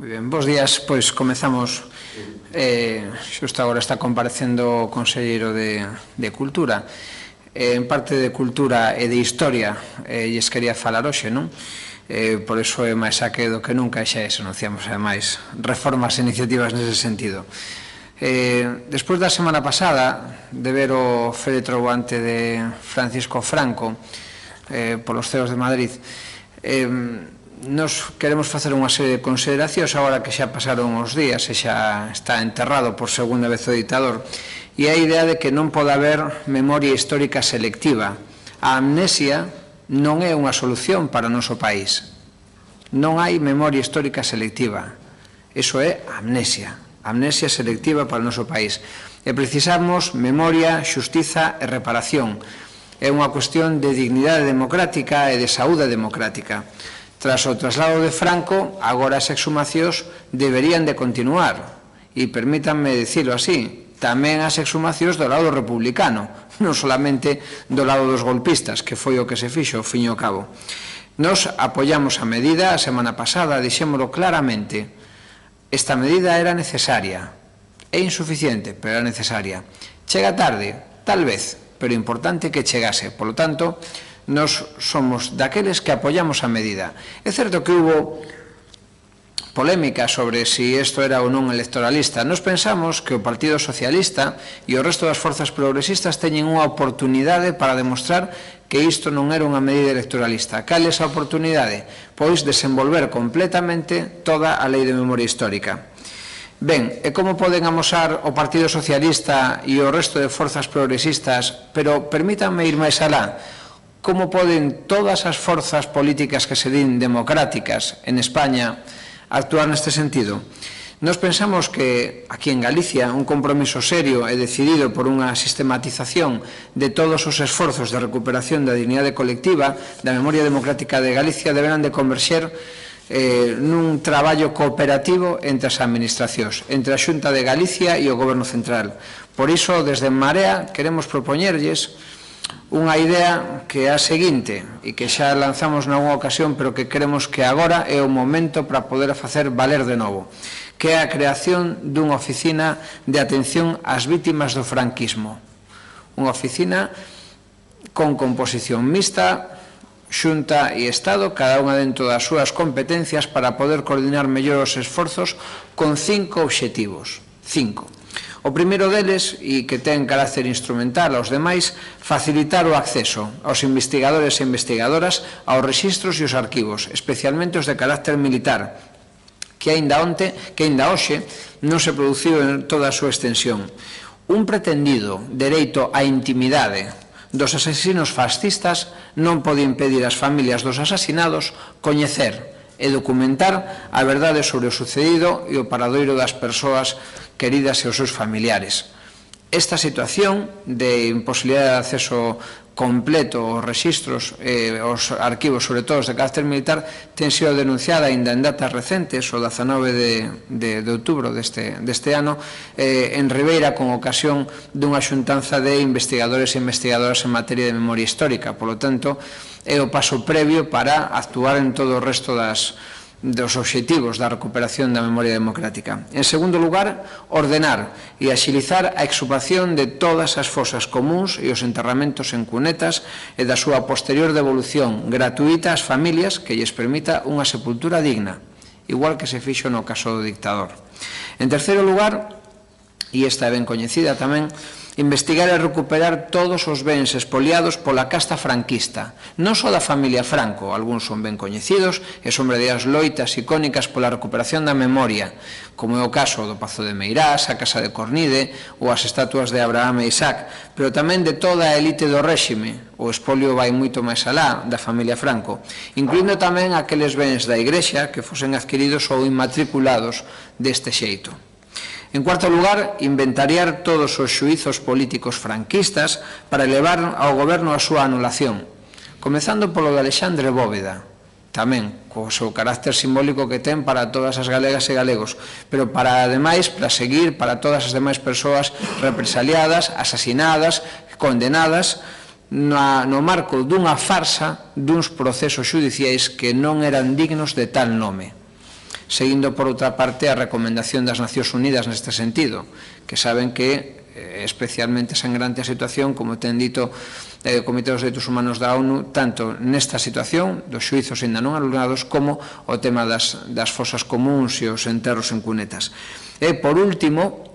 Moi ben, bos días, pois comezamos. Xusto agora está comparecendo o Conselleiro de Cultura. En parte de Cultura e de Historia lles quería falar hoxe, non? Por iso é máis saque do que nunca, xa anunciamos ademais reformas e iniciativas nese sentido. Despois da semana pasada de ver o féretro guante de Francisco Franco polos CEOs de Madrid, nos queremos facer unha serie de consideracións agora que xa pasaron os días e xa está enterrado por segunda vez o ditador, e a idea de que non pode haber memoria histórica selectiva. A amnesia non é unha solución para o noso país. Non hai memoria histórica selectiva. Iso é amnesia selectiva para o noso país. E precisamos memoria, xustiza e reparación. É unha cuestión de dignidade democrática e de saúde democrática. Tras o traslado de Franco, agora as exhumacións deberían de continuar. E permítanme dicilo así, tamén as exhumacións do lado republicano, non solamente do lado dos golpistas, que foi o que se fixo, ao fin e ao cabo. Nos apoiamos a medida a semana pasada, dixémolo claramente. Esta medida era necesaria. É insuficiente, pero era necesaria. Chega tarde, tal vez, pero importante que chegase. Por lo tanto, nos somos daqueles que apoiamos a medida. É certo que hubo polémica sobre si isto era ou non electoralista. Nos pensamos que o Partido Socialista e o resto das forzas progresistas teñen unha oportunidade para demostrar que isto non era unha medida electoralista. Cal é esa oportunidade? Pois desenvolver completamente toda a lei de memoria histórica. Ben, e como poden amosar o Partido Socialista e o resto de forzas progresistas, pero permítanme ir máis alá, como poden todas as forzas políticas que se din democráticas en España actuar neste sentido? Nos pensamos que aquí en Galicia un compromiso serio e decidido por unha sistematización de todos os esforzos de recuperación da dignidade colectiva da memoria democrática de Galicia deberán de converxer nun traballo cooperativo entre as administracións, entre a Xunta de Galicia e o Goberno Central. Por iso, desde En Marea, queremos propoñerlles unha idea que é a seguinte, e que xa lanzamos nalgúna ocasión, pero que creemos que agora é o momento para poder facer valer de novo, que é a creación dunha oficina de atención ás vítimas do franquismo. Unha oficina con composición mixta, Xunta e Estado, cada unha dentro das súas competencias, para poder coordinar mellor os esforzos con 5 obxectivos. 5. O primeiro deles, e que ten carácter instrumental aos demais, facilitar o acceso aos investigadores e investigadoras aos rexistros e os arquivos, especialmente os de carácter militar, que aínda hoxe non se produciu en toda a súa extensión. Un pretendido dereito á intimidade dos asesinos fascistas non pode impedir ás familias dos asasinados coñecer e documentar a verdade sobre o sucedido e o paradoiro das persoas queridas e os seus familiares. Esta situación de imposibilidade de acceso completo aos rexistros e aos arquivos, sobre todo os de carácter militar, ten sido denunciada aínda en datas recentes, o 19 de outubro deste ano, en Ribeira, con ocasión dunha xuntanza de investigadores e investigadoras en materia de memoria histórica. Por lo tanto, é o paso previo para actuar en todo o resto dos obxectivos da recuperación da memoria democrática. En segundo lugar, ordenar e axilizar a exhumación de todas as fosas comuns e os enterramentos en cunetas e da súa posterior devolución gratuita ás familias que lles permita unha sepultura digna, igual que se fixo no caso do dictador. En terceiro lugar, e esta é ben coñecida tamén, investigar e recuperar todos os bens expoliados pola casta franquista, non só da familia Franco, algúns son ben coñecidos e son verdadeiras loitas icónicas pola recuperación da memoria, como é o caso do Pazo de Meirás, a Casa de Cornide ou as estatuas de Abraham e Isaac, pero tamén de toda a elite do réxime. O espolio vai moito máis alá da familia Franco, incluindo tamén aqueles bens da Igrexa que fosen adquiridos ou inmatriculados deste xeito. En cuarto lugar, inventariar todos os xuízos políticos franquistas para elevar ao goberno a súa anulación, comezando polo de Alexandre Bóveda, tamén co seu carácter simbólico que ten para todas as galegas e galegos, pero para seguir para todas as demais persoas represaliadas, asasinadas, condenadas, no marco dunha farsa duns procesos xudiciais que non eran dignos de tal nome. seguindo por outra parte a recomendación das Nacións Unidas neste sentido, que saben que especialmente sangrante a situación, como ten dito o Comité dos Dereitos Humanos da ONU, tanto nesta situación dos xuizos ainda non anulados como o tema das fosas comuns e os enterros en cunetas. E, por último,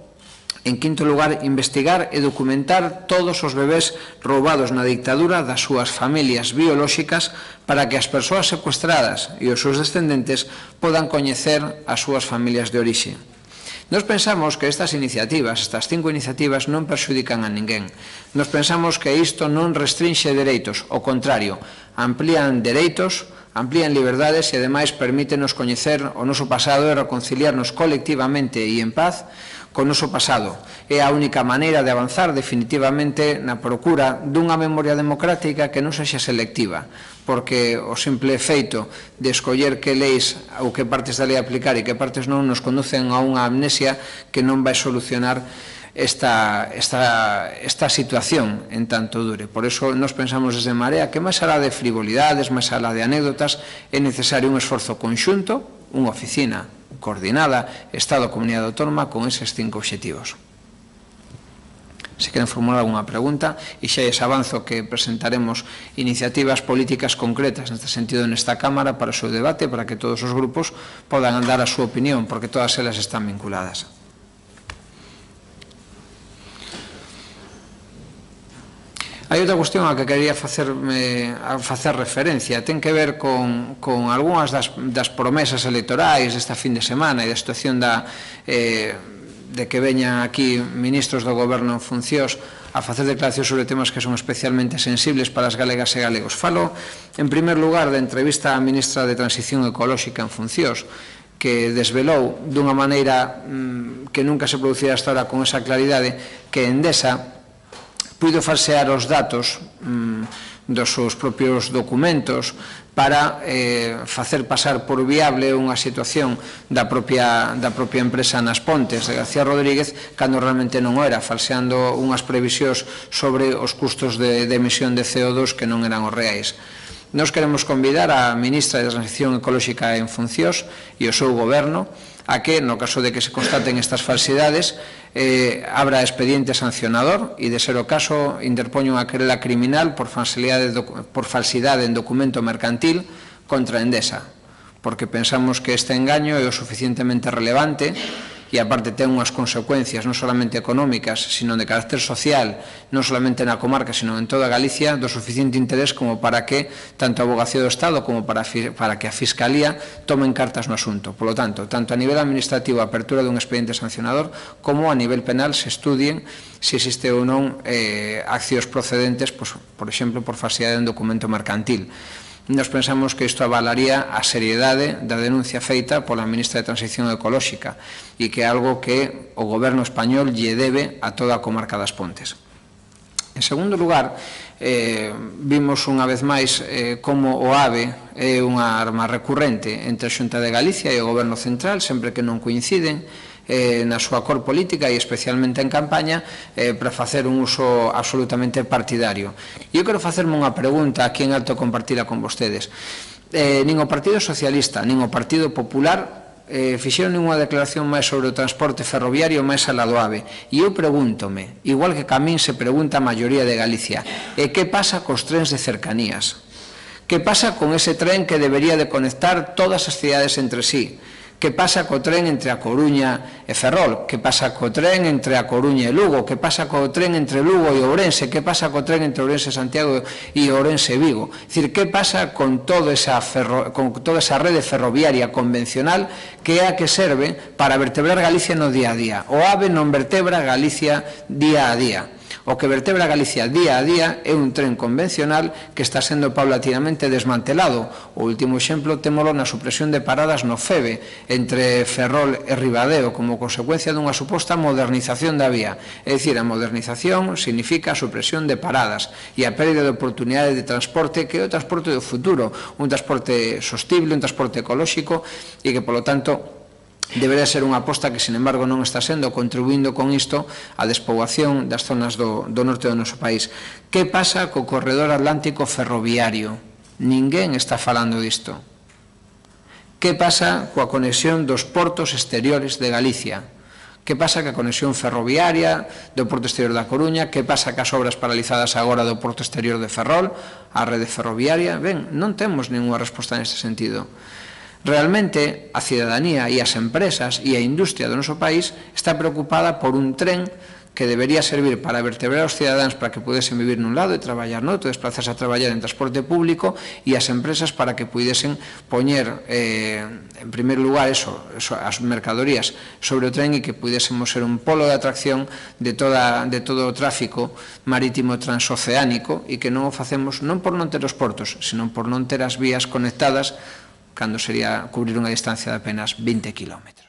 en quinto lugar, investigar e documentar todos os bebés roubados na dictadura das súas familias biolóxicas para que as persoas secuestradas e os seus descendentes podan coñecer as súas familias de orixe. Nos pensamos que estas iniciativas, estas 5 iniciativas, non perxudican a ninguén. Nos pensamos que isto non restrinxe dereitos, ao contrario, amplían dereitos, amplían liberdades e, ademais, permítenos coñecer o noso pasado e reconciliarnos colectivamente e en paz con o noso pasado. É a única maneira de avanzar definitivamente na procura dunha memoria democrática que non sexa selectiva, porque o simple feito de escoller que leis ou que partes da lei aplicar e que partes non nos conducen a unha amnesia que non vai solucionar esta situación en tanto dure. Por eso nos pensamos desde Marea que máis alá de frivolidades, máis alá de anécdotas, é necesario un esforzo conxunto, unha oficina coordinada, Estado, Comunidade Autónoma, con eses 5 obxectivos. Se queren formular alguna pregunta, e xa es avanzo que presentaremos iniciativas políticas concretas neste sentido nesta Cámara para o seu debate, para que todos os grupos podan dar a súa opinión, porque todas elas están vinculadas. Hai outra cuestión a que quería facer referencia, ten que ver con algunhas das promesas electorais desta fin de semana e da situación de que veñan aquí ministros do goberno en funcións a facer declaracións sobre temas que son especialmente sensibles para as galegas e galegos. Falo, en primer lugar, da entrevista á ministra de Transición Ecolóxica en funcións, que desvelou dunha maneira que nunca se producira hasta ahora con esa claridade que Endesa puido falsear os datos dos seus propios documentos para facer pasar por viable unha situación da propia empresa Nas Pontes de García Rodríguez, cando realmente non o era, falseando unhas previsións sobre os custos de emisión de CO2 que non eran os reais. Nos queremos convidar a ministra de Transición Ecolóxica en funcións e o seu goberno a que, no caso de que se constaten estas falsidades, abra expediente sancionador e, de ser o caso, interpoña unha querela criminal por falsidade en documento mercantil contra Endesa, porque pensamos que este engaño é o suficientemente relevante e aparte ten unhas consecuencias non solamente económicas, sino de carácter social, non solamente na comarca, sino en toda Galicia, do suficiente interés como para que tanto a Avogacía do Estado como para que a Fiscalía tomen cartas no asunto. Por lo tanto, tanto a nivel administrativo a apertura dun expediente sancionador como a nivel penal se estudien se existe ou non accións procedentes, por exemplo, por falsidade en documento mercantil. Nos pensamos que isto avalaría a seriedade da denuncia feita pola ministra de Transición Ecolóxica e que é algo que o goberno español lle debe a toda a comarca das Pontes. En segundo lugar, vimos unha vez máis como o AVE é unha arma recurrente entre a Xunta de Galicia e o goberno central, sempre que non coinciden na súa cor política e especialmente en campaña para facer un uso absolutamente partidario. E eu quero facerme unha pregunta aquí en alto compartida con vostedes. Nin o Partido Socialista, nin o Partido Popular fixeron ninguna declaración máis sobre o transporte ferroviario máis alá do AVE. E eu pregúntome, igual que Camín se pregunta a maioría de Galicia, que pasa cos trens de cercanías? Que pasa con ese tren que debería de conectar todas as cidades entre sí? Que pasa co tren entre A Coruña e Ferrol? Que pasa co tren entre A Coruña e Lugo? Que pasa co tren entre Lugo e Ourense? Que pasa co tren entre Ourense e Santiago e Ourense e Vigo? É dicir, que pasa con toda esa rede ferroviaria convencional que é a que serve para vertebrar Galicia no día a día? O AVE non vertebra Galicia día a día. O que vertebra Galicia día a día é un tren convencional que está sendo paulatinamente desmantelado. O último exemplo témolo na supresión de paradas no FEBE entre Ferrol e Ribadeo como consecuencia dunha suposta modernización da vía. É dicir, a modernización significa a supresión de paradas e a pérdida de oportunidades de transporte que é o transporte do futuro, un transporte sostible, un transporte ecolóxico e que, polo tanto, debería ser unha aposta que, sin embargo, non está sendo, contribuindo con isto a despoboación das zonas do norte do noso país. Que pasa co corredor atlántico ferroviario? Ninguén está falando disto. Que pasa coa conexión dos portos exteriores de Galicia? Que pasa ca conexión ferroviaria do Porto Exterior da Coruña? Que pasa cas obras paralizadas agora do Porto Exterior de Ferrol, a rede ferroviaria? Ben, non temos ninguna resposta neste sentido. Realmente, a cidadanía e as empresas e a industria do noso país está preocupada por un tren que debería servir para vertebrar os cidadáns para que pudesen vivir nun lado e traballar noutro, desplazarse a traballar en transporte público, e as empresas para que pudesen poñer en primeiro lugar as mercadorías sobre o tren e que pudésemos ser un polo de atracción de todo o tráfico marítimo transoceánico, e que non o facemos non por non ter os portos, sino por non ter as vías conectadas, cando sería cubrir unha distancia de apenas 20 km.